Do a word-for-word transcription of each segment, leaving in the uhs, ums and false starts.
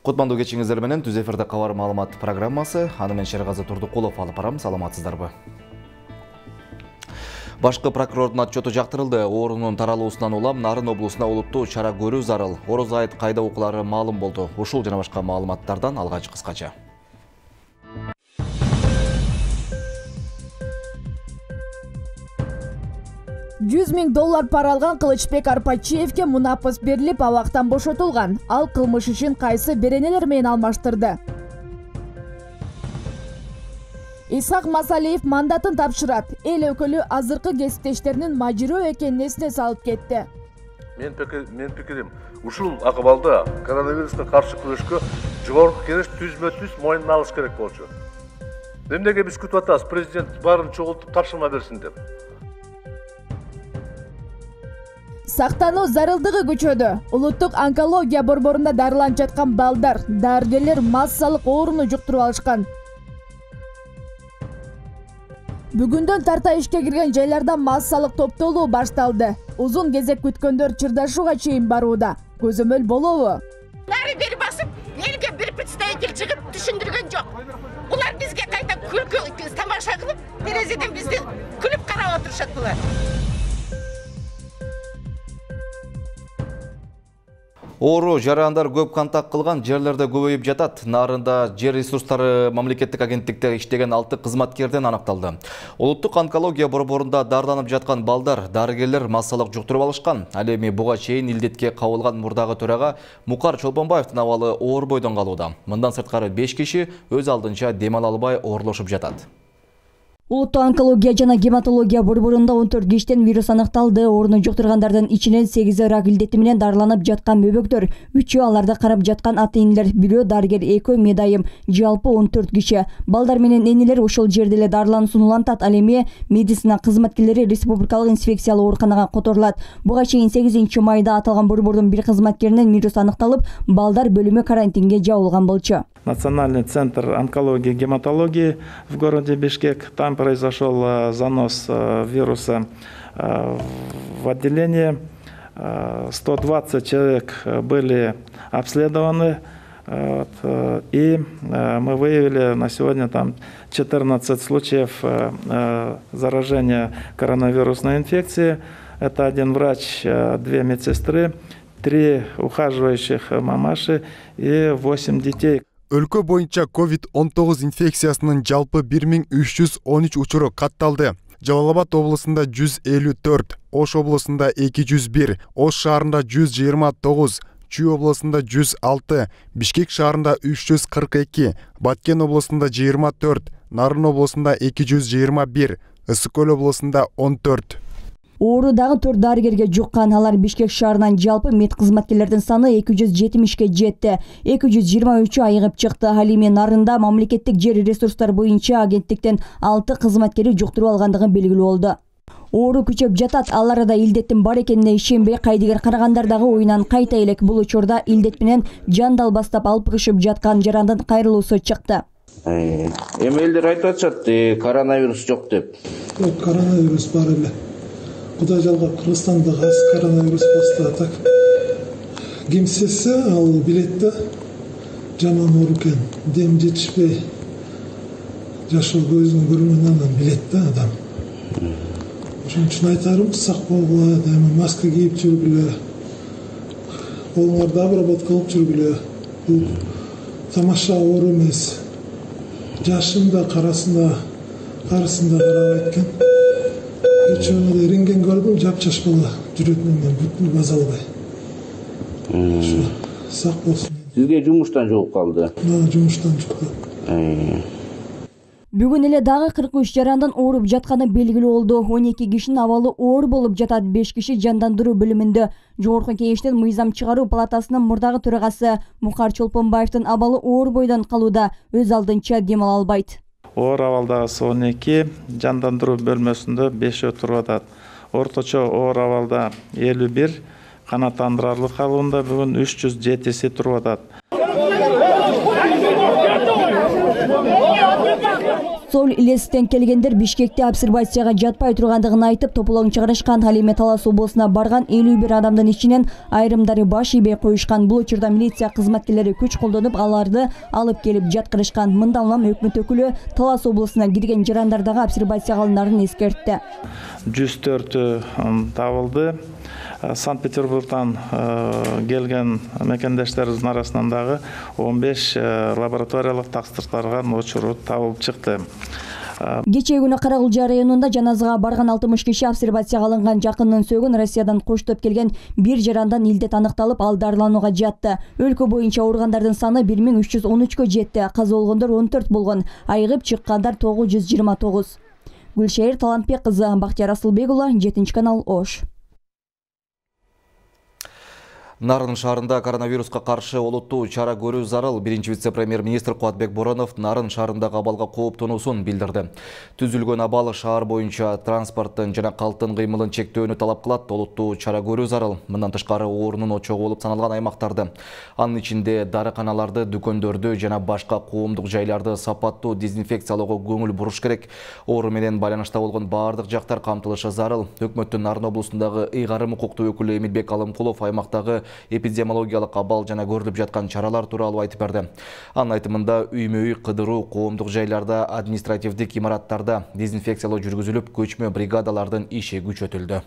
Кутмандуу кечиңиздер менен Түз эфирде кабар маалымат программасы. Аны мен Шергазы Турдукулов алып барам. Саламатсыздарбы? Башкы прокурордун отчету жактырылды. Оорунун таралуусунан улам Нарын облусуна олуттуу чара көрүү зарыл. Ороз айт кайда окуулары маалым болду. Ушул жана башка маалыматтардан алгач кыскача. жүз миң доллар пара алган Кылычбек Арпачиевке мунапыс берилип, абактан бошотулган. Ал кылмыш ишин кайсы беренелер менен алмаштырды. Исхак Масалиев мандатын тапшырат. Эл өкүлү азыркы кесиптештеринин мажирөө экенин эсине салып кетти. Мен мен пикирим, ушул акыбалда коронавируска каршы күрөшкө жогорку кеңеш түзмө-түз моюнуна алыш керек болчу. Эмнеге биз күтүп атабыз, президент баарын чогултуп тапшырма берсин деп. Сактануу зарылдыгы күчөдү. Улуттук онкология борборунда дарыланып жаткан балдар, дарыгерлер массалык ооруну жуктуруп алышкан. Бүгүндөн тарта ишке кирген жайларда массалык топтолуу башталды. Узун кезек күткөндөр чырдашууга чейин барууда. Көзөмөл болобу? Баары бери басып, элге бир представитель чыгып түшүндүргөн жок. Булар бизге кайта күлкү тамаша кылып, терезеден бизди күлүп карап отурушат булар. Оору жарандар көп контакт кылган жерлерде көбөйүп жатат. Нарында жер ресурстары мамлекеттик агенттикте иштеген алты кызматкерден аныкталды. Улуттук онкология борборунда дарыланып жаткан балдар, дарыгерлер массалык жуктуруп алышкан. Ал эми буга чейин илдетке кабылган мурдагы төрага Мукар Чолпонбаевдин абалы оор бойдон калууда. Мындан сырткары беш киши өз алдынча дем ала албай оорулушуп жатат. Улуттук онкология жана гематология борборунда он төрт киштен вирус аныкталды. Ооруну жуктургандардын ичинен сегизи рак илдети менен дарыланып жаткан бөбөктөр, үчөө аларды карап жаткан ата-энелер, бирөө дарыгер, экөө медайым, жалпы он төрт киши. Балдар менен энелер ошол жерде эле дарылануусун улантат. Ал эми медицина кызматкерлери республикалык инфекциялык ооруканага которулат. Буга чейин сегизинчи майда аталган борбордун бир кызматкеринен вирус аныкталып, балдар бөлүмү карантинге жабылган болчу. Национальный центр онкологии и гематологии в городе Бишкек. Там произошел занос вируса в отделение. сто двадцать человек были обследованы. И мы выявили на сегодня там четырнадцать случаев заражения коронавирусной инфекцией. Это один врач, две медсестры, три ухаживающих мамаши и восемь детей. Өлкө боюнча ковид он тогуз инфекциясынын жалпы бир миң үч жүз он үч учуру катталды. Жалал Абад облусунда жүз элүү төрт, Ош облусунда эки жүз бир, Ош шаарында жүз жыйырма тогуз, Чүй облусунда жүз алты, Бишкек шаарында үч жүз кырк эки, Баткен облусунда жыйырма төрт, Нарын облусунда эки жүз жыйырма бир, Ысык Көл облусунда он төрт. Оору дагы төрт дарыгерге жуккан. Алар Бишкек шаарынан жалпы мед кызматкерлердин саны эки жүз жетимишке жетти. эки жүз жыйырма үчү айыгып чыкты. Ал эми Нарында мамлекеттик жер ресурстары боюнча агенттиктен алты кызматкери жуктуруп алгандыгы белгилүү болду. Оору күчөп жатат. Ал арада илдеттин бар экенине ишенбей кайдыгер карагандар дагы оюнан кайта элек. Бул учурда илдет менен жандал бастап алпыгышып жаткан жарандын кайрылуусу чыкты. Эми элдер айтып атышат, коронавирус жок деп. Коронавирус бар эле. Кудай жалгап Кыргызстанда коронавирус басты. Так кимсесе ал билет да жаман оору экен, дем жетишпей жашоо көзүнүн көрмөгөнүн билет да адам. Ошон үчүн айтарым, сак болгула, дайыма маска кийип жүргүлө, колуңарды обработка кылып жүргүлө. Бул тамаша оору эмес. Жашында, карасында, карысында карабайт экен. Кечөөдө рентген көрдүм, жапчаш бала жүрөтүнөн мен бүтүн база албай. Сак болсун. Сизге жумуштан жолуп калды? Жумуштан жукты. Бүгүн эле дагы кырк үч жарандын ооруп жатканы белгилүү болду. он эки кишинин абалы оор болуп жатат. беш киши жандандыруу бөлүмүндө. Жогорку кеңештин мыйзам чыгаруу палатасынын мурдагы төрагасы Мукар Чолпонбаевдин абалы оор бойдон калууда, өз алдынча дем ала албайт. Оор абалдагысы он эки, жандандыруу бөлмөсүндө бешөө туруп атат. Орточо оор абалда элүү бир, канааттандырарлык алуунда бүгүн үч жүз жетиси туруп атат. Соул Илестен келгендер Бишкекте обсервацияга жатпай тургандыгын айтып, тополоң чыгарышкан. Ал эми Талас облусуна барган элүү бир адамдын ичинен айрымдары баш ийбей коюшкан. Бул учурда милиция кызматкерлери күч колдонуп, аларды алып келип жаткырышкан. Мындан улам өкмөт өкүлү Талас облусуна кирген жарандар дагы обсервацияга алынаарын эскертти. жүз төртү табылды. Санкт-Петербургдан келген мекендештерибиздин арасынан дагы он беш лабораториялык тапшыртылган учуру табылып чыкты. Кечээ күнү Карагулжа районунда жаназага барган алтымыш киши обсервацияга алынган жакынын сөөгүн Россиядан коштоп келген бир жарандан илдет аныкталып, ал дарыланууга жатты. Өлкө боюнча ооругандардын саны бир миң үч жүз он үчкө жетти. Каза болгондор он төрт болгон, айыгып чыккандар тогуз жүз жыйырма тогуз. Гүлшайыр Талантбек кызы, Бактияр Асылбек уулу, жетинчи канал, Ош. Нарын шаарында коронавируска каршы олуттуу чара көрүү зарыл. Биринчи вице-премьер-министр Кубатбек Боронов Нарын шаарындагы абалга кооптонуусун билдирди. Түзүлгөн абал шаар боюнча транспорттун жана калктын кыймылын чектөөнү талап кылат. Олуттуу чара көрүү зарыл. Мындан тышкары оорунун очогу болуп саналган аймактарды, анын ичинде дарыканаларды, дүкөндөрдү жана башка коомдук жайларды сапаттуу дезинфекциялоого көңүл буруш керек. Оору менен байланышта болгон баардык жактар камтылышы зарыл. Өкмөттүн Нарын облусундагы ыйгарым укуктуу өкүлү Эмилбек Алымкулов аймактагы эпидемиологиялык абал жана көрүлүп жаткан чаралар тууралуу айтып берди. Анын айтымында үймө-үй кыдыруу, коомдук жайларда, административдик имараттарда дезинфекциялоо жүргүзүлүп, көчмө бригадалардын иши күчөтүлдү.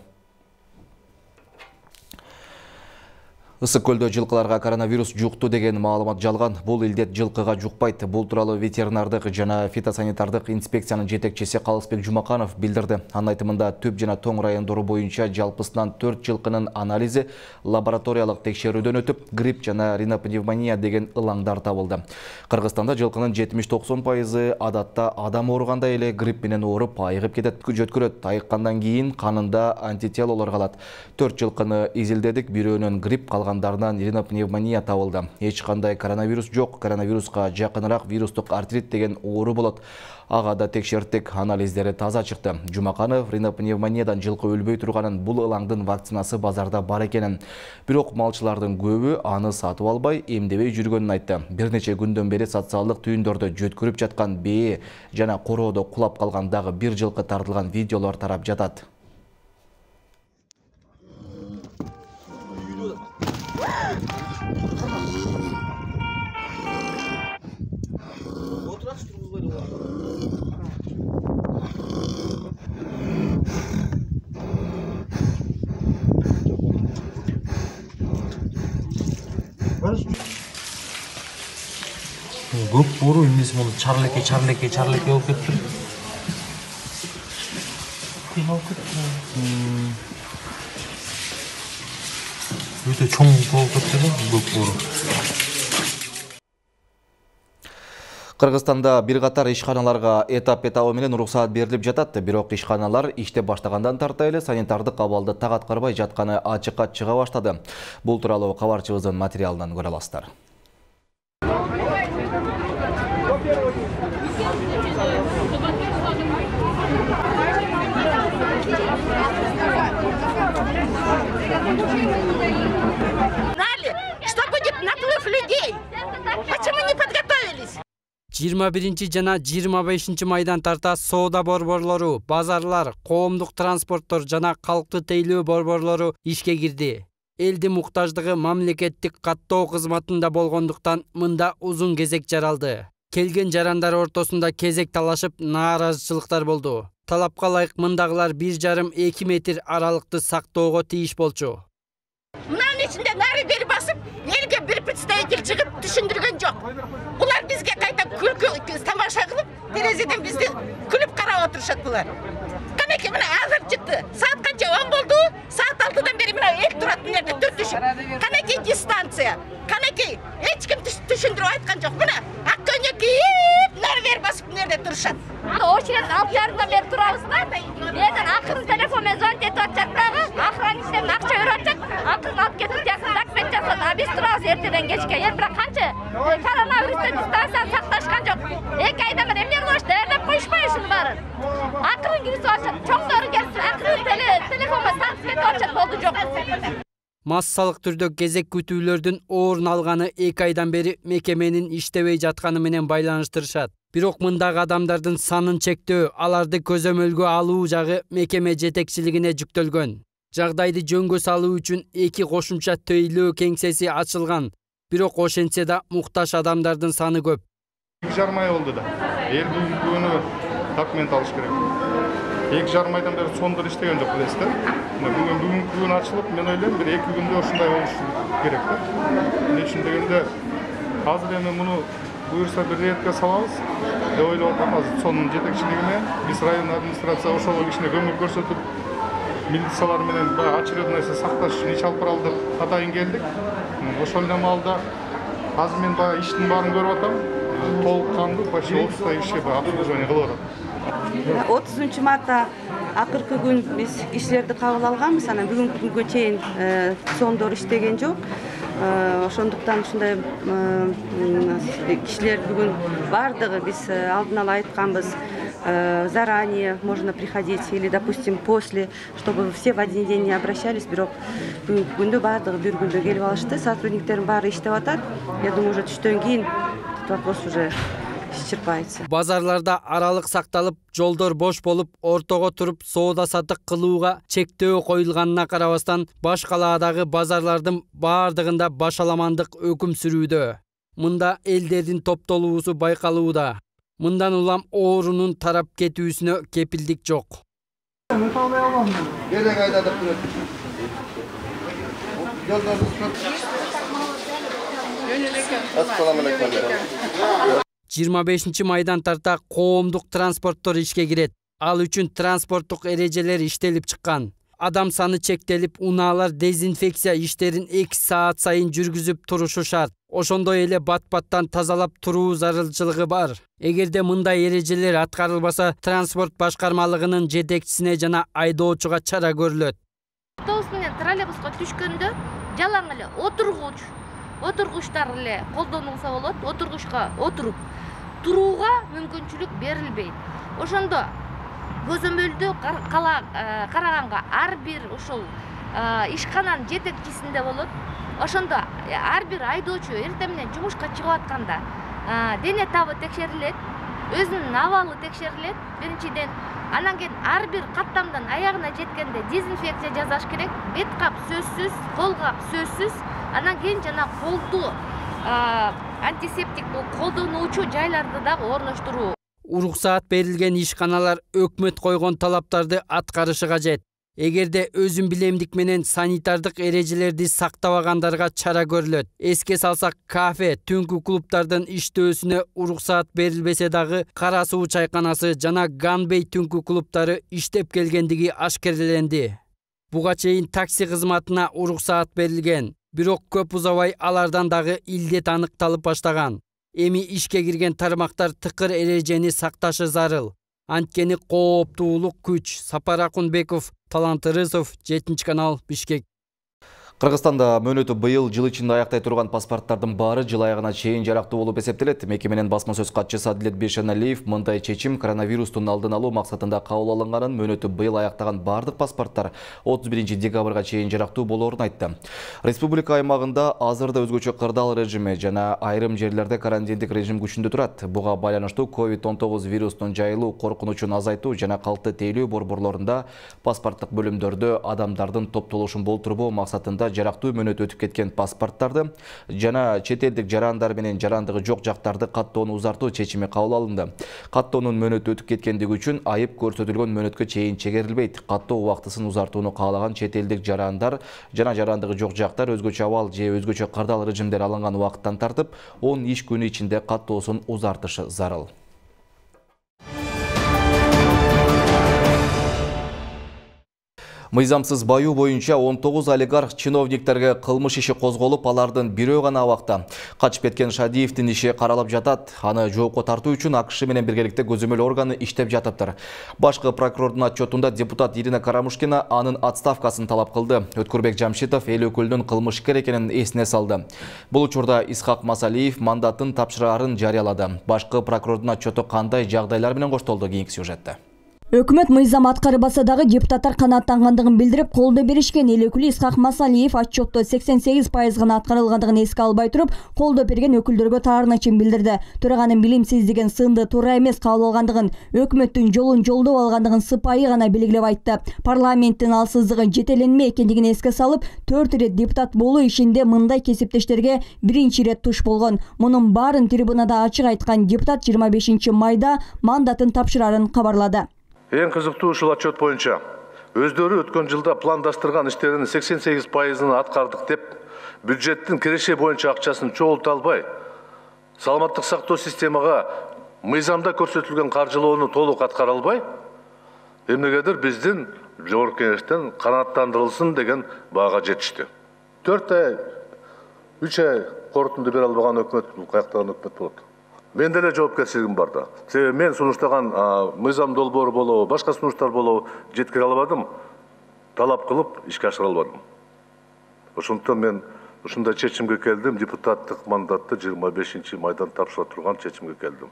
Ысык көлдө жылкыларга коронавирус жукту деген маалымат жалган. Бул илдет жылкыга жукпайт. Бул тууралуу ветеринардык жана фитосанитардык инспекциянын жетекчиси Калысбек Жумаканов билдирди. Анын айтымында Түп жана Тоң райондору боюнча жалпысынан төрт жылкынын анализи лабораториялык текшерүүдөн өтүп, грипп жана ринопневмония деген ылаңдар табылды. Кыргызстанда жылкынын жетимиш токсон пайызы адатта адам ооругандай эле грипп менен ооруп айыгып кетет, жөткөрөт. Айыккандан кийин канында антителолор калат. төрт жылкыны изилдедик, бирөөнөн грипп калган дарынан ринопневмония табылды. Эч кандай коронавирус жок. Коронавируска жакыныраак вирустук артрит деген оору болот. Ага да текшерттик, анализдери таза чыкты. Жумаканов ринопневмониядан жылкы өлбөй турганын, бул ылаңдын вакцинасы базарда бар экенин, бирок малчылардын көбү аны сатып албай, эмдебей жүргөнүн айтты. Бир нече күндөн бери социалдык түйүндөрдө жөткөрүп жаткан бээ жана короодо кулап калган дагы бир жылкы тартылган видеолор тарап жатат. Көп оору эмес, муну чарлеке чарлеке чарлеке болуп кетти. Кыйналып кетти. Өтө чоң болуп кетти да, көп оору. Кыргызстанда бир катар ишканаларга этап-этабы менен уруксаат берилип жатат, бирок ишканалар иштеп баштагандан тарта эле санитардык абалды так аткарбай жатканы ачыкка чыга баштады. Бул тууралуу кабарчыбыздын материалынан көрө аласыздар. Что будет наплыв людей? Почему не подготовились? жыйырма биринчи жана жыйырма бешинчи майдан тарта соода борборлору, базарлар, коомдук транспорттор жана калкты тейлөө борборлору ишке кирди. Элдин муктаждыгы мамлекеттик каттоо кызматында болгондуктан мында узун кезек жаралды. Келген жарандар ортосунда кезек талашып, нааразычылыктар болду. Талапка ылайык мындагылар бир жарым эки метр аралыкты сактоого тийиш болчу. Мынанын ичинде нары бери басып, элге бир представитель чыгып түшүндүргөн жок. Булар бизге кайта күлкү тамаша кылып, терезеден бизди күлүп карап отурушат булар. Канеки мына азыр чыкты. Саат канча он болду? Саат алтыдан бери мына эл турат мына жерде төрт түшүп. Канеки дистанция. Канеки эч ким түшүндүрүп айткан жок. Мына ак көйнөк кийип, нары бери басып мына жерде турушат. Очередь алып жарымдан бери турабыз да. Менен акырын телефон менен звонить этип атышат дагы. Охранниктен акча берип атышат. Акырын алып кетип жакын документ жасат. А биз турабыз эртеден кечке. Эми бирок канча коронавирустан дистанцияны сакташкан жок. эки айдан бери эмне кылыш, даярдап коюшпайбы ушунун баарын? Акырын киргизип атышат. Чоңдору келип акырын телефон менен тантып кетип атышат. Болду жок. Массалык түрдө кезек күтүүлөрдүн орун алганы эки айдан бери мекеменин иштебей жатканы менен байланыштырышат. Бирок мындагы адамдардын санын чектөө, аларды көзөмөлгө алуу жагы мекеме жетекчилигине жүктөлгөн. Жагдайды жөнгө салуу үчүн эки кошумча тейлөө кеңсеси ачылган. Бирок ошентсе да муктаж адамдардын саны көп. эки жарым ай болду да. Эл бүгүнкү күнү документ алыш керек. эки жарым айдан бери сондур иштеген жок билесиз да. Бүгүн бүгүнкү күн ачылып, мен ойлойм бир эки күндө ушундай болуш керек да. Эмне үчүн дегенде азыр эми муну буюрса бир ретке салабыз деп ойлоп атам. Азыр сонун жетекчилиги менен биз район администрация ошол кишине көмөк көрсөтүп, милициялар менен баягы очередной сакташ үчүн иш алып баралы деп атайын келдик. Ошол эле маалда азыр мен баягы иштин баарын көрүп атам. Толук кандуу почти отуздай киши обслуживание кылып атат. отузунчу мартта акыркы күн биз кишилерди кабыл алганбыз. Анан бүгүнкү күнгө чейин сондор иштеген жок. Ошондуктан ушундай кишилер бүгүн бардыгы биз алдын ала айтканбыз. Заранее можно приходить или, допустим, после, чтобы все в один день не обращались. Бирок бүгүнкү күндө бардыгы бир күндө келип алышты. Сотрудниктердин баары иштеп атат. Я думаю, уже түштөн кийин вопрос уже исчерпается. Базарларда аралык сакталып, жолдор бош болуп, ортого туруп соода сатык кылууга чектөө коюлганына карабастан, баш калаадагы базарлардын баардыгында башаламандык өкүм сүрүүдө. Мында элдердин топтолуусу байкалууда. Мындан улам оорунун тарап кетүүсүнө кепилдик жок. жыйырма бешинчи майдан тарта коомдук транспорттор ишке кирет. Ал үчүн транспорттук эрежелер иштелип чыккан. Адам саны чектелип, унаалар дезинфекция иштерин эки саат сайын жүргүзүп турушу шарт. Ошондой эле бат-баттан тазалап туруу зарылчылыгы бар. Эгерде мындай эрежелер аткарылбаса, транспорт башкармалыгынын жетекчисине жана айдоочуга чара көрүлөт. Автобус менен троллейбуска түшкөндө жалаң эле отургуч, отургучтар эле колдонулса болот. Отургучка отуруп турууга мүмкүнчүлүк берилбейт. Ошондо көзөмөлдү караганга ар бир ушул ишкананын жетекчисинде болот. Ошондо ар бир айдоочу эртең менен жумушка чыгып атканда дене табы текшерилет, өзүнүн абалы текшерилет биринчиден. Анан кийин ар бир каттамдан аягына жеткенде дезинфекция жасаш керек. Бет кап сөзсүз, кол кап сөзсүз. Анан кийин жана колду антисептик колдонуучу жайларды дагы орноштуруу. Уруксаат берилген ишканалар өкмөт койгон талаптарды аткарышы кажет. Эгерде өзүн билемдик менен санитардык эрежелерди сактабагандарга чара көрүлөт. Эске салсак, кафе, түнкү клубтардын иштөөсүнө уруксаат берилбесе дагы Кара суу чайканасы жана Ганбей түнкү клубтары иштеп келгендиги ашкереленди. Буга чейин такси кызматына уруксаат берилген, бирок көп узабай алардан дагы илдет аныкталып баштаган. Эми ишке кирген тармактар тыкыр эрежени сакташы зарыл. Анткени кооптуулук күч. Сапар Акунбеков, Талант Ырысов, жетинчи канал, Бишкек. Кыргызстанда мөөнөтү быйыл жыл ичинде аяктай турган паспорттардын баары жыл аягына чейин жарактуу болуп эсептелет. Мекеменин басма сөз катчысы Адилет Бейшеналиев мындай чечим коронавирустун алдын алуу максатында кабыл алынганын, мөөнөтү быйыл аяктаган бардык паспорттар отуз биринчи декабрга чейин жарактуу болоорун айтты. Республика аймагында азырда өзгөчө кырдаал режими жана айрым жерлерде карантиндик режим күчүндө турат. Буга байланыштуу ковид он тогуз вирусунун жайылуу коркунучун азайтуу жана калкты тейлөө борборлорунда паспорттук бөлүмдөрдө адамдардын топтолушун болтурбоо максатында жарактуу мөөнөт өтүп кеткен паспорттарды жана чет элдик жарандар менен жарандыгы жок жактарды каттоону узартуу чечими кабыл алынды. Каттоонун мөөнөтү өтүп кеткендиги үчүн айып көрсөтүлгөн мөөнөткө чейин чегерилбейт. Каттоо убактысын узартууну каалаган чет элдик жарандар жана жарандыгы жок жактар өзгөчө абал же өзгөчө кырдаал режимдер алынган убакыттан тартып он иш күнү ичинде каттоосун узартышы зарыл. Мыйзамсыз баюу боюнча он тогуз олигарх чиновниктерге кылмыш иши козголуп, алардын бирөө гана абакта. Качып кеткен Шадиевдин иши каралып жатат. Аны жоопко тартуу үчүн АКШ менен биргеликте көзөмөл органы иштеп жатыптыр. Башкы прокурордун отчетунда депутат Ирина Карамушкина анын отставкасын талап кылды. Өткүрбек Жамшитов эл өкүлүнүн кылмышкер экенин эсине салды. Бул учурда Исхак Масалиев мандатын тапшыраарын жарыялады. Башкы прокурордун отчету кандай жагдайлар менен коштолду, кийинки сюжетте. Өкмөт мыйзам аткарбаса дагы депутаттар канааттангандыгын билдирип, колдоо беришкен. Эл өкүлү Исхак Масалиев отчетто сексен сегиз пайыз гана аткарылгандыгын эске албай туруп, колдоо берген өкүлдөргө таарынычын билдирди. Төраганын билимсиздигин, сынды туура эмес кабыл алгандыгын, өкмөттүн жолун жолдоп алгандыгын сыпайы гана белгилеп айтты. Парламенттин алсыздыгы жетеленме экендигин эске салып, төрт ирет депутат болуу ишинде мындай кесиптештерге биринчи ирет туш болгон. Мунун баарын трибунада ачык айткан депутат жыйырма бешинчи майда мандатын тапшырарын кабарлады. Эң кызыктуу ушул отчет боюнча өздөрү өткөн жылда пландаштырган иштеринин сексен сегиз пайызын аткардык деп, бюджеттин киреше боюнча акчасын чогулта албай, саламаттык сактоо системага мыйзамда көрсөтүлгөн каржылоону толук аткара албай, эмнегедир биздин жогорку кеңештен канааттандырылсын деген баага жетишти. төрт ай, үч ай корутунду бере албаган өкмөт бул каяктаган өкмөт болот? Мен деле жоопкерчилигим бар да. Себеби мен сунуштаган мыйзам долбоору болобу, башка сунуштар болобу жеткире албадым, талап кылып ишке ашыра албадым. Ошондуктан мен ушундай чечимге келдим, депутаттык мандатты жыйырма бешинчи майдан тапшыра турган чечимге келдим.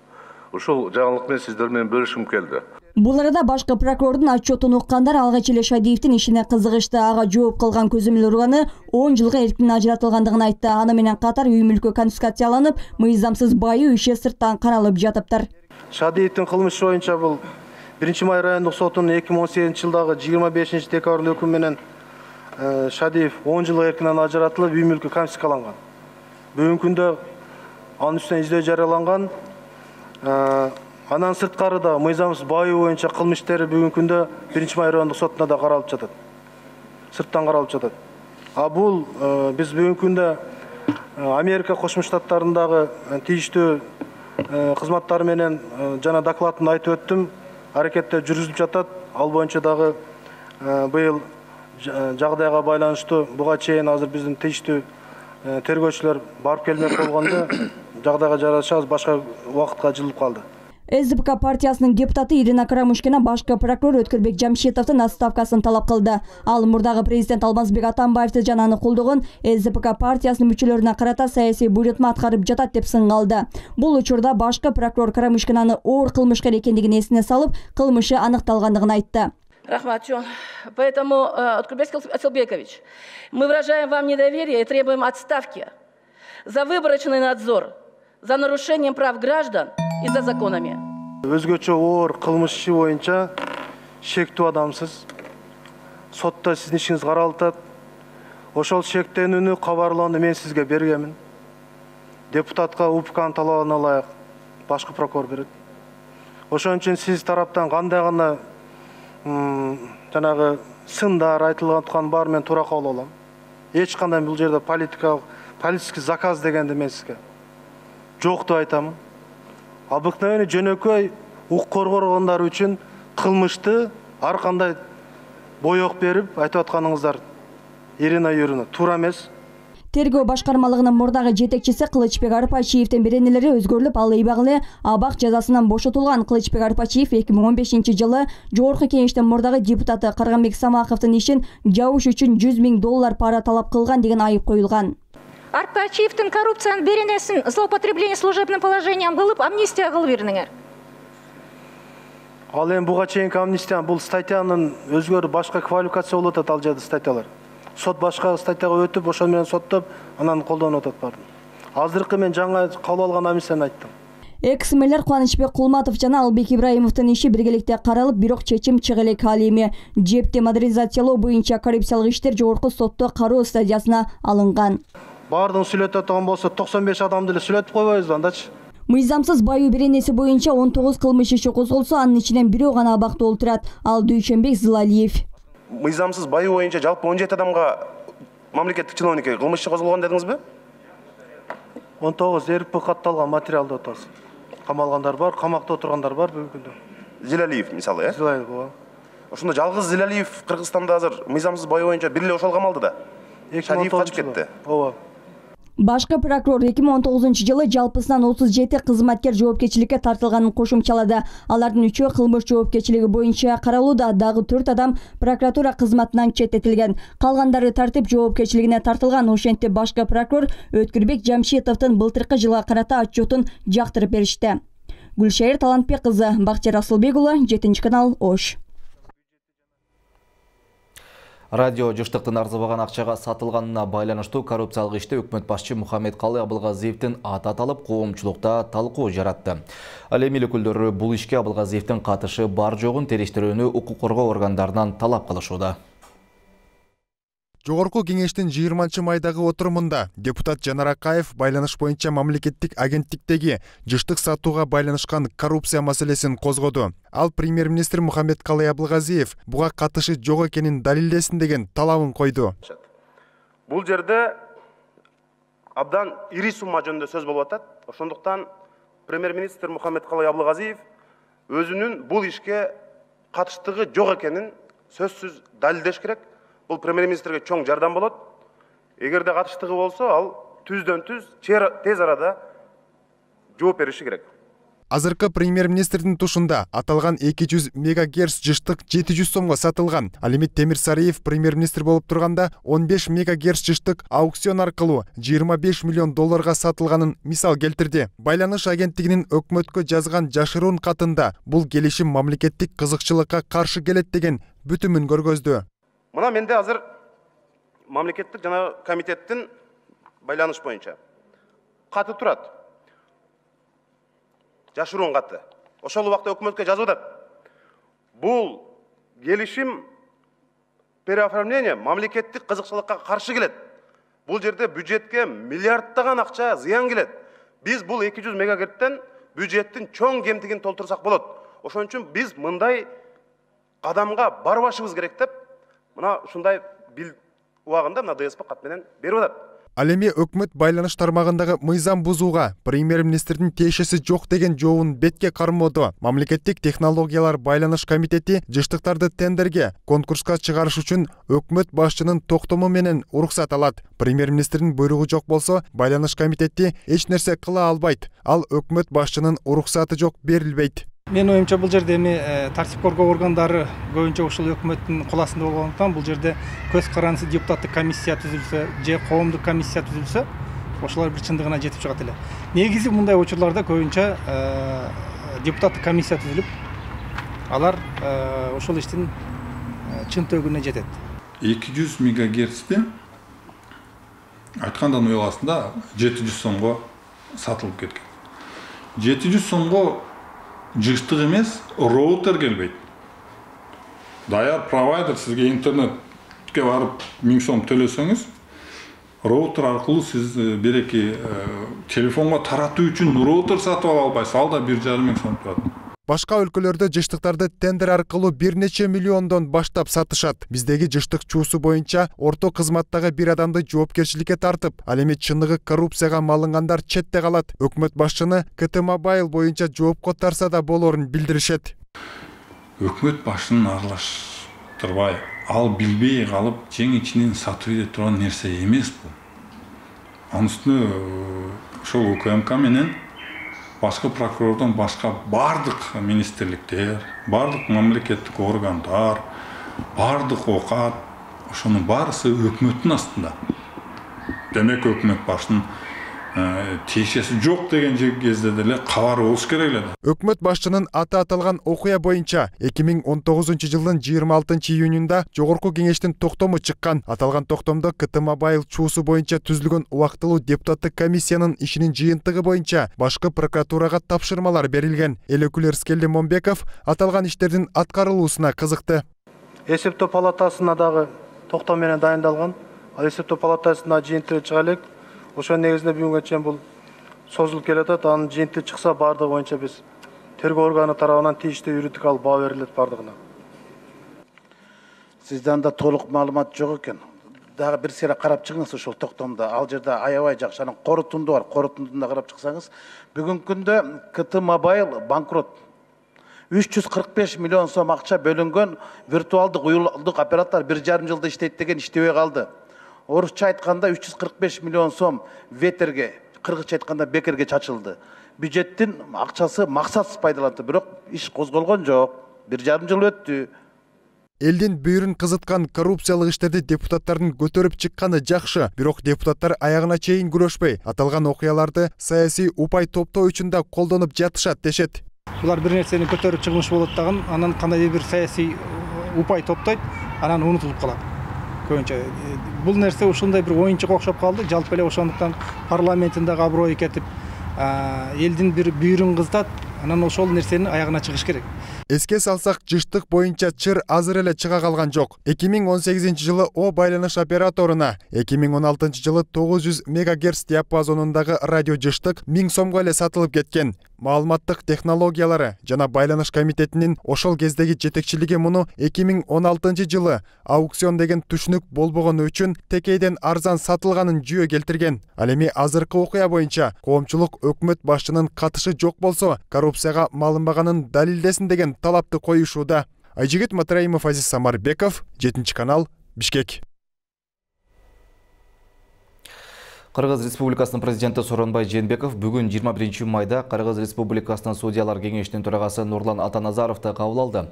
Ушул жаңылык менен сиздер менен бөлүшкүм келди. Бул арада башкы прокурордун отчетун уккандар алгач эле Шадиевдин ишине кызыгышты. Ага жооп кылган Көзөмөл урганы он жылга эркин ажыратылгандыгын айтты. Аны менен катар үй мүлкү конфискацияланып, мыйзамсыз байуу иши сырттан каралып жатыптыр. Шадиевдин кылмышы боюнча бул биринчи май райондук сотунун эки миң он сегизинчи жылдагы жыйырма бешинчи декабрдын өкүмү менен Шадиев он жылга эркинен ажыратылып, үй мүлкү конфискаланган. Бүгүнкү күндө анын үстүнөн издөө жарыяланган. Анан сырткары да мыйзамсыз байуу боюнча кылмыш иштери бүгүнкү күндө биринчи май райондук сотуна да каралып жатат. Сырттан каралып жатат. А бул биз бүгүнкү күндө Америка Кошмо Штаттарындагы тийиштүү кызматтары менен жана докладын айтып өттүм, аракеттер жүргүзүлүп жатат. Ал боюнча дагы быйыл жагдайга байланыштуу буга чейин азыр биздин тийиштүү тергөөчүлөр барып келмек болгондо жагдайга жараша башка убакытка жылып калды. СДПК партиясынын депутаты Ирина Карамушкина башкы прокурор Өткүрбек Жамшитовдун отставкасын талап кылды. Ал мурдагы президент Алмазбек Атамбаевди жана аны колдогон СДПК партиясынын мүчөлөрүнө карата саясий буйрутма аткарып жатат деп сынга алды. Бул учурда башкы прокурор Карамушкинаны оор кылмышкер экендигин эсине салып, кылмышы аныкталгандыгын айтты. Рахматжон, поэтому, Өткүрбек Асылбекович, мы выражаем вам недоверие и требуем отставки за выборочный надзор, за нарушением прав граждан и за законами. Өзгөчө оор кылмыш иши боюнча шектүү адамсыз. Сотто сиздин ишиңиз каралып атат. Ошол шектенүүнү кабарлоону мен сизге бергенмин. Депутатка УПКнын талабына ылайык башкы прокурор берет. Ошон үчүн сиз тараптан кандай гана жанагы сындар айтылган бар мен туура кабыл алам. Эч кандай бул жерде политикалык, политический заказ дегенди мен сизге жок деп айтамын. Обыкновенный жөнөкөй укук коргогондар үчүн кылмышты ар кандай боек берип айтып атканыңыздар Ирина Юрьевна туура эмес. Тергөө башкармалыгынын мурдагы жетекчиси Кылычбек Арпачиевдин беренелери өзгөрүлүп, ал ыйбагы абак жазасынан бошотулган. Кылычбек Арпачиев эки миң он бешинчи жылы жогорку кеңештин мурдагы депутаты Карганбек Самаховдун ишин жабыш үчүн жүз миң доллар пара талап кылган деген айып коюлган. Арпачиевдин коррупциянын беренесин злоупотребление служебным положением кылып амнистия кылып бердиңер. Ал эми буга чейинки амнистия бул статьянын өзгөрүп башка квалификация болуп атат ал жерде статьялар. Сот башка статьяга өтүп, ошол менен соттоп, анан колдонуп атат барды. Азыркы мен жаңа кабыл алган амнистияны айттым. Экс-мэлер Кубанычбек Кулматов жана Албек Ибраимовдун иши биргеликте каралып, бирок чечим чыга элек. Ал эми жепти модернизациялоо боюнча коррупциялык иштер жогорку сотто кароо стадиясына алынган. Бардыгын сүйлөтө турган болсо токсон беш адамды эле сүйлөтүп койбойбузбу андачы? Мыйзамсыз байуу беренеси боюнча он тогуз кылмыш иши козголсо, анын ичинен бирөө гана абакта отурат. Ал Дүйшөнбек Зылалиев. Мыйзамсыз байуу боюнча жалпы он жети адамга мамлекеттик чиновник кылмыш иши козголгон дедиңизби? он тогуз эрп катталган материал деп атабыз. Камалгандар бар, камакта отургандар бар бүгүнкү күндө. Зилалиев мисалы, э? Зилалиев, ооба. Ошондо жалгыз Зилалиев Кыргызстанда азыр мыйзамсыз байуу боюнча бир эле ошол камалды да. Шадиев качып кетти. Ооба. Башкы прокурор эки миң он тогузунчу жылы жалпысынан отуз жети кызматкер жоопкерчиликке тартылганын кошумчалады. Алардын үчөө кылмыш жоопкерчилиги боюнча каралууда, дагы төрт адам прокуратура кызматынан четтетилген. Калгандары тартип жоопкерчилигине тартылган. Ошентип башкы прокурор Өткүрбек Жамшитовдун былтыркы жылга карата отчетун жактырып беришти. Гүлшайыр Талантбек кызы, Бакчар Асылбек уулу, жетинчи канал, Ош. Радио жыштыктын арзыбаган акчага сатылганына байланыштуу коррупциялык иште өкмөт башчы Мухаммедкалы Абылгазиевдин аты аталып, коомчулукта талкуу жаратты. Ал эми өкүлдөрү бул ишке Абылгазиевдин катышы бар жогун териштирүүнү укук коргоо органдарынан талап кылышууда. Жогорку кеңештин жыйырманчы майдагы отурумунда депутат Жанар Акаев байланыш боюнча мамлекеттик агенттиктеги жыштык сатууга байланышкан коррупция маселесин козгоду. Ал премьер-министр Мухаммедкалы Абылгазиев буга катышы жок экенин далилдесин деген талабын койду. Бул жерде абдан ири сумма жөнүндө сөз болуп атат. Ошондуктан премьер-министр Мухаммедкалы Абылгазиев өзүнүн бул ишке катыштыгы жок экенин сөзсүз далилдеш керек. Бул премьер-министрге чоң жардам болот. Эгерде катыштыгы болсо, ал түздөн түз тез арада жооп бериши керек. Азыркы премьер-министрдин тушунда аталган эки жүз мегагерц жыштык жети жүз сомго сатылган. Ал эми Темир Сариев премьер-министр болуп турганда он беш мегагерц жыштык аукцион аркылуу жыйырма беш миллион долларга сатылганын мисал келтирди. Байланыш агенттигинин өкмөткө жазган жашыруун катында бул келишим мамлекеттик кызыкчылыкка каршы келет деген бүтүмүн көргөздү. Мына менде азыр мамлекеттик жана комитеттин байланыш боюнча каты турат. Жашыруун каты. Ошол убакта өкмөткө жазып атат. Бул келишим переоформление мамлекеттик кызыкчылыкка каршы келет. Бул жерде бюджетке миллиардтаган акча зыян келет. Биз бул эки жүз мегагерцтен бюджеттин чоң кемтигин толтурсак болот. Ошон үчүн биз мындай кадамга барбашыбыз керек деп мына ушундай бил убагында мына ДСП кат менен берип атат. Ал эми өкмөт байланыш тармагындагы мыйзам бузууга премьер-министрдин тиешеси жок деген жообун бетке кармоодо. Мамлекеттик технологиялар байланыш комитети жыштыктарды тендерге, конкурска чыгарыш үчүн өкмөт башчынын токтому менен уруксат алат. Премьер-министрдин буйругу жок болсо, байланыш комитети эч нерсе кыла албайт. Ал өкмөт башчынын уруксаты жок берилбейт. Мен оюмча бул жерде эми тартип коргоо органдары көбүнчө ушул өкмөттүн кол астында болгондуктан бул жерде көз карандысыз депутаттык комиссия түзүлсө же коомдук комиссия түзүлсө, ошолор бир чындыгына жетип чыгат эле. Негизи мындай учурларда көбүнчө депутаттык комиссия түзүлүп, алар ошол иштин чын төгүнүнө жетет. эки жүз мегагерцти айткандан уяласында жети жүз сомго сатылып кеткен. жети жүз сомго жыштык эмес, роутер келбейт. Даяр провайдер сизге интернетке барып миң сом төлөсөңүз, роутер аркылуу сиз береки телефонго таратуу үчүн роутер сатып ала албайсыз, ал да бир жарым миң сом турат. Башка өлкөлөрдө жыштыктарды тендер аркылуу бир нече миллиондон баштап сатышат. Биздеги жыштык чуусу боюнча орто кызматтагы бир адамды жоопкерчиликке тартып, ал эми чындыгы коррупцияга малынгандар четте калат. Өкмөт башчыны КТ Мобайл боюнча жоопко тартса да болорун билдиришет. Өкмөт башчынын аралаштырбай, ал билбей калып, жең ичинен сатып иде турган нерсе эмес бул. Анын үстүнө ошол УКМК менен башка прокурордон башка бардык министрликтер, бардык мамлекеттик органдар, бардык окат, ошонун баарысы өкмөттүн астында. Демек өкмөт башчынын тиешеси жок деген кезде деле кабар болуш керек эле. Өкмөт башчынын аты аталган окуя боюнча эки миң он тогузунчу жылдын жыйырма алтынчы июнунда жогорку кеңештин токтому чыккан. Аталган токтомдо КТ Мобайл чуусу боюнча түзүлгөн убактылуу депутаттык комиссиянын ишинин жыйынтыгы боюнча башкы прокуратурага тапшырмалар берилген. Эл өкүлү Эрскелди Момбеков аталган иштердин аткарылуусуна кызыкты. Эсептөө палатасына дагы токтом менен дайындалган. Ал эсептөө палатасына жыйынтыгы чыга элек. Ошол негизинде бүгүнкө чейин бул созулуп келатат. Анын жыйынтыгы чыкса бардыгы боюнча биз тергөө органы тарабынан тийиштүү юридикалык баа берилет бардыгына. Сизде анда толук маалымат жок экен. Дагы бир сере карап чыгыңыз ошол токтомдо. Ал жерде аябай жакшы анын корутунду бар. Корутундуна карап чыксаңыз, бүгүнкү күндө КТ Мобайл банкрот. үч жүз кырк беш миллион сом акча бөлүнгөн виртуалдык уюлдук оператор бир жарым жылда иштейт деген иштебей калды. Орусча айтканда үч жүз кырк беш миллион сом ветерге, кыргызча айтканда бекерге чачылды. Бюджеттин акчасы максатсыз пайдаланды, бирок иш козголгон жок. бир жарым жыл өттү. Элдин бүйүрүн кызыткан коррупциялык иштерди депутаттардын көтөрүп чыкканы жакшы, бирок депутаттар аягына чейин күрөшпөй, аталган окуяларды саясий упай топтоо үчүн да колдонуп жатышат дешет. Булар бир нерсени көтөрүп чыгмыш болот дагы, анан кандайдыр бир саясий упай топтойт, анан унутулуп калат. Көбүнчө бул нерсе ушундай бир оюнчук окшоп калды. Жалпы эле ошондуктан парламенттин дагы аброю кетип, элдин бир бүйүрүн кызытат, анан ошол нерсенин аягына чыгыш керек. Эске салсак, жыштык боюнча чыр азыр эле чыга калган жок. эки миң он сегизинчи жылы О байланыш операторуна эки миң он алтынчы жылы тогуз жүз мегагерц диапазонундагы радио жыштык миң сомго эле сатылып кеткен. Маалыматтык технологиялары жана байланыш комитетинин ошол кездеги жетекчилиги муну эки миң он алтынчы жылы аукцион деген түшүнүк болбогону үчүн текейден арзан сатылганын жүйө келтирген. Ал эми азыркы окуя боюнча коомчулук өкмөт башчынын катышы жок болсо, коррупцияга малынбаганын далилдесин деген талапты коюшууда. Айжигит Матраимов, Азиз Самарбеков, жетинчи канал, Бишкек. Кыргыз Республикасынын президенти Сооронбай Жээнбеков бүгүн жыйырма биринчи майда Кыргыз Республикасынын судьялар кеңешинин төрагасы Нурлан Атаназаровду кабыл алды.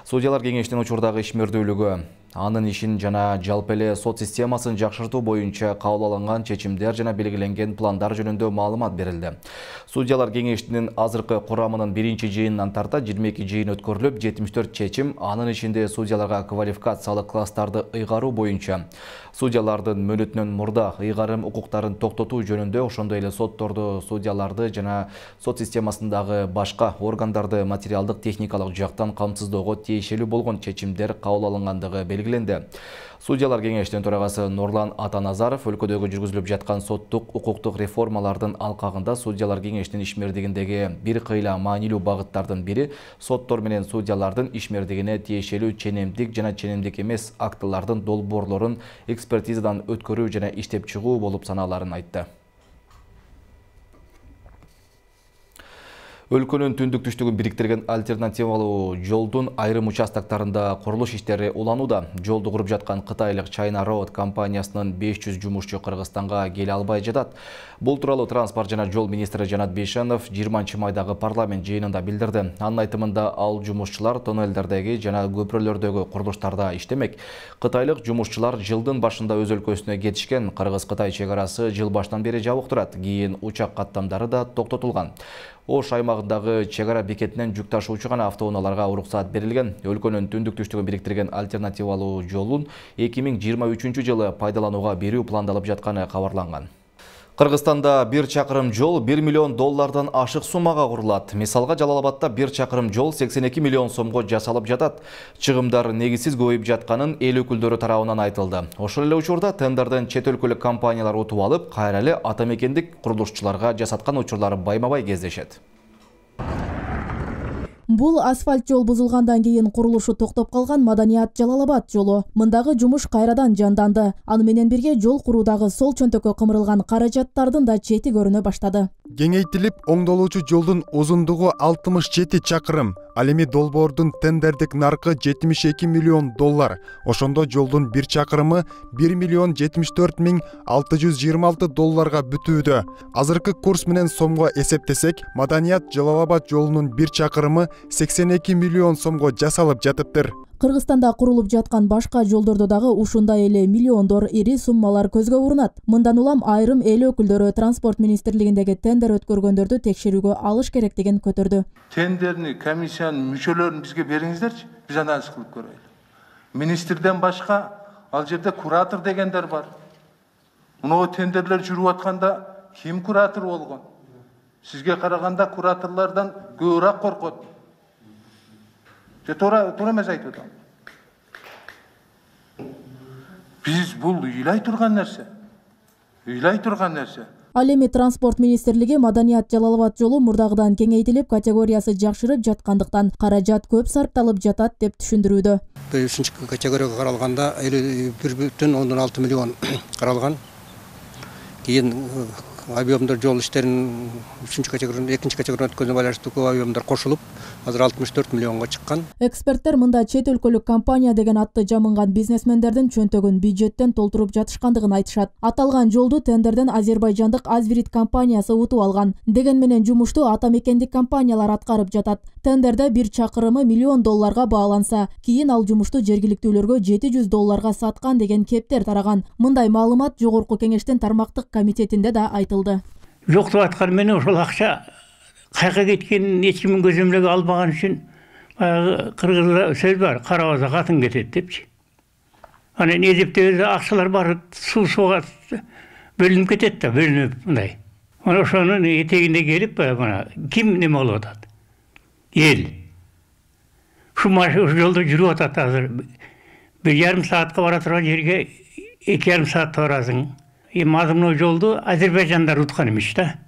Судьялар кеңешинин учурдагы ишмердүүлүгү, анын ишин жана жалпы эле сот системасын жакшыртуу боюнча кабыл алынган чечимдер жана белгиленген пландар жөнүндө маалымат берилди. Судьялар кеңешинин азыркы курамынын биринчи жыйынынан тарта жыйырма эки жыйын өткөрүлүп, жетимиш төрт чечим, анын ичинде судьяларга квалификациялык класстарды ыйгаруу боюнча, судьялардын мөөнөтүнөн мурда ыйгарым укуктарын токтотуу жөнүндө, ошондой эле сотторду, судьяларды жана сот системасындагы башка органдарды материалдык техникалык жактан камсыздоого тиешелүү болгон чечимдер кабыл алынгандыгы белгиленди. Судьялар кеңешинин төрагасы Нурлан Атаназаров өлкөдөгү жүргүзүлүп жаткан соттук укуктук реформалардын алкагында судьялар кеңешинин ишмердигиндеги бир кыйла маанилүү багыттардын бири соттор менен судьялардын ишмердигине тиешелүү ченемдик жана ченемдик эмес актылардын долбоорлорун экспертизадан өткөрүү жана иштеп чыгуу болуп саналарын айтты. Өлкөнүн түндүк түштүгүн бириктирген альтернативалуу жолдун айрым участоктарында курулуш иштери уланууда. Жолду куруп жаткан кытайлык China Road компаниясынын беш жүз жумушчу Кыргызстанга келе албай жатат. Бул тууралуу транспорт жана жол министри Жанат Бейшенов жыйырманчы майдагы парламент жыйынында билдирди. Анын айтымында ал жумушчулар тоннелдердеги жана көпүрөлөрдөгү курулуштарда иштемек. Кытайлык жумушчулар жылдын башында өз өлкөсүнө кетишкен. Кыргыз-Кытай чек арасы жыл башынан бери жабык турат. Кийин учак каттамдары да токтотулган. Ош аймагындагы чек ара бекетинен жүк ташуучу гана автоунааларга уруксаат берилген. Өлкөнүн түндүк түштүгүн бириктирген альтернативалуу жолун эки миң жыйырма үчүнчү жылы пайдаланууга берүү пландалып жатканы кабарланган. Кыргызстанда бир чакырым жол бир миллион доллардан ашык суммага курулат. Мисалга, Жалалабадда бир чакырым жол сексен эки миллион сомго жасалып жатат. Чыгымдар негизсиз көбөйүп жатканын эл өкүлдөрү тарабынан айтылды. Ошол эле учурда тендерден чет өлкөлүк компаниялар утуп алып, кайра эле ата мекендик курулушчуларга жасаткан учурлары байма-бай кездешет. Бул асфальт жол бузулгандан кийин курулушу токтоп калган Маданият Жалалабад жолу. Мындагы жумуш кайрадан жанданды. Аны менен бирге жол куруудагы сол чөнтөккө кымырылган каражаттардын да чети көрүнө баштады. Кеңейтилип оңдолуучу жолдун узундугу алтымыш жети чакырым. Ал эми долбоордун тендердик наркы жетимиш эки миллион доллар. Ошондо жолдун бир чакырымы бир миллион жетимиш төрт миң алты жүз жыйырма алты долларга бүтүүдө. Азыркы курс менен сомго эсептесек, Маданият Жалалабад жолунун бир чакырымы сексен эки миллион сомго жасалып жатыптыр. Кыргызстанда курулуп жаткан башка жолдордо дагы ушундай эле миллиондор ири суммалар көзгө урунат. Мындан улам айрым эл өкүлдөрү транспорт министрлигиндеги тендер өткөргөндөрдү текшерүүгө алыш керектигин көтөрдү. Тендерни, комиссиянын мүчөлөрүн бизге бериңиздерчи, биз анализ кылып көрөлү. Министрден башка ал жерде куратор дегендер бар. Мына тендерлер жүрүп атканда ким куратор болгон? Сизге караганда кураторлордон көбүрөөк коркот. Туура туура эмес айтып атам. Биз бул ыйлай турган нерсе. Ыйлай турган нерсе. Ал эми транспорт министрлиги Маданият Жалалабад жолу мурдагыдан кеңейтилип, категориясы жакшырып жаткандыктан каражат көп сарпталып жатат деп түшүндүрүүдө. Бешинчи категорияга каралганда элүү бир бүтүн ондон алты миллион каралган. Кийин объемдор жол иштерин үчүнчү категорияда экинчи категорияда өткөнүнө байланыштуу көп объемдор кошулуп азыр алтымыш төрт миллионго чыккан. Эксперттер мында чет өлкөлүк компания деген атты жамынган бизнесмендердин чөнтөгүн бюджеттен толтуруп жатышкандыгын айтышат. Аталган жолду тендерден азербайжандык Азвирит компаниясы утуп алган. Деген менен жумушту ата мекендик компаниялар аткарып жатат. Тендерде бир чакырымы миллион долларга бааланса, кийин ал жумушту жергиликтүүлөргө жети жүз долларга саткан деген кептер тараган. Мындай маалымат жогорку кеңештин тармактык комитетинде да айтылды. Жоктоп аткан менен ошол акча кайка кеткенин эч кимдин көзөмөлгө албаган үчүн баягы кыргызда сөз бар, карабаса катын кетет депчи. Анан эзептебесе акчалар баары суу суга бөлүнүп кетет да, бөлүнүп мындай. Ana ошонун этегинде келип мына ким неме болуп атат? Эл. Шу жолдо жүрүп атат азыр. Bir yarım saatка бара турган жерге эки жарым саатта барасың. Эми мазмуну жолду Азербайжандар уткан эмес да.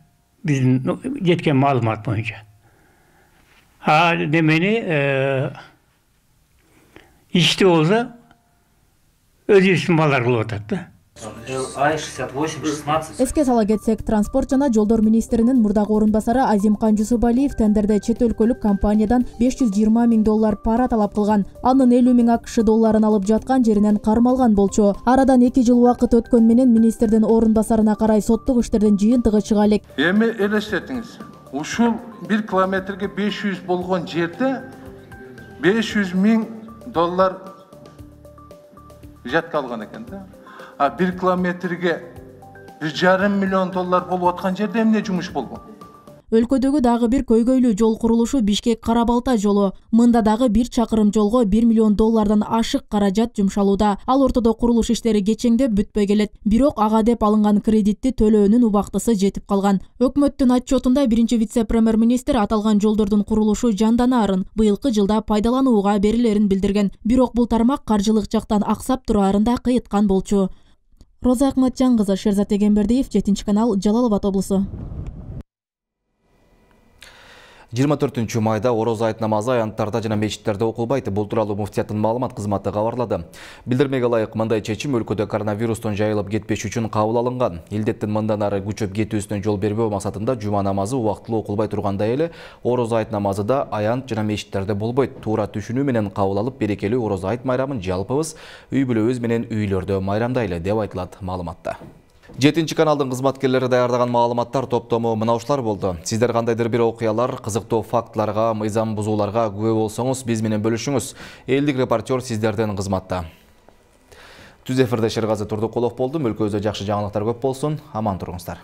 Биздин жеткен маалымат боюнча. А демени ишти болсо өзүбүздүн балдар кылып атат да. ай шестьдесят восемь шестнадцать. Эске сала кетсек, транспорт жана жолдор министринин мурдагы орун басары Азимкан Жусупалиев тендерде чет өлкөлүк компаниядан беш жүз жыйырма миң доллар пара талап кылган. Анын элүү миң акш долларын алып жаткан жеринен кармалган болчу. Арадан эки жыл убакыт өткөн менен министрдин орун басарына карай соттук иштердин жыйынтыгы чыга элек. Эми элестетиңиз, ушул бир километрге беш жүз болгон жерде беш жүз миң доллар жатка алган экен да. А bir kilometrege bir жарым миллион доллар болуп аткан жерде эмне жумуш болгон? Өлкөдөгү дагы бир көйгөйлүү жол курулушу Бишкек Карабалта жолу. Мында дагы бир чакырым жолго бир миллион доллардан ашык каражат жумшалууда. Ал ортодо курулуш иштери кечеңдеп бүтпөй келет. Бирок ага деп алынган кредитти төлөөнүн убактысы жетип калган. Өкмөттүн отчетунда биринчи вице-премьер-министр аталган жолдордун курулушу жанданарын, быйылкы жылда пайдаланууга берилерин билдирген. Бирок бул тармак каржылык жактан аксап турарын да кыйыткан болчу. Роза Акматжан кызы, Шерзат Эгембердиев, жетинчи канал, Жалал Абад облусу. жыйырма төртүнчү майда ороз айт намазы аянттарда жана мечиттерде окулбайт. Бул тууралуу муфтияттын маалымат кызматы кабарлады. Билдирмеге ылайык, мындай чечим өлкөдө коронавирустун жайылып кетпеш үчүн кабыл алынган. Илдеттин мындан ары күчөп кетүүсүнө жол бербөө максатында жума намазы убактылуу окулбай тургандай эле ороз айт намазы да аянт жана мечиттерде болбойт. Туура түшүнүү менен кабыл алып, берекелүү ороз айт майрамын жалпыбыз үй бүлөбүз менен үйлөрдө майрамдайлы деп айтылат маалыматта. жетинчи каналдын кызматкерлери даярдаган маалыматтар топтому мына ушулар болду. Сиздер кандайдыр бир окуялар, кызыктуу фактыларга, мыйзам бузууларга күбө болсоңуз, биз менен бөлүшүңүз. Элдик репортер сиздерден кызматта. Түз эфирде Шергази Турдукулов болдум. Өлкөбүздө жакшы жаңылыктар көп болсун. Аман туруңуздар.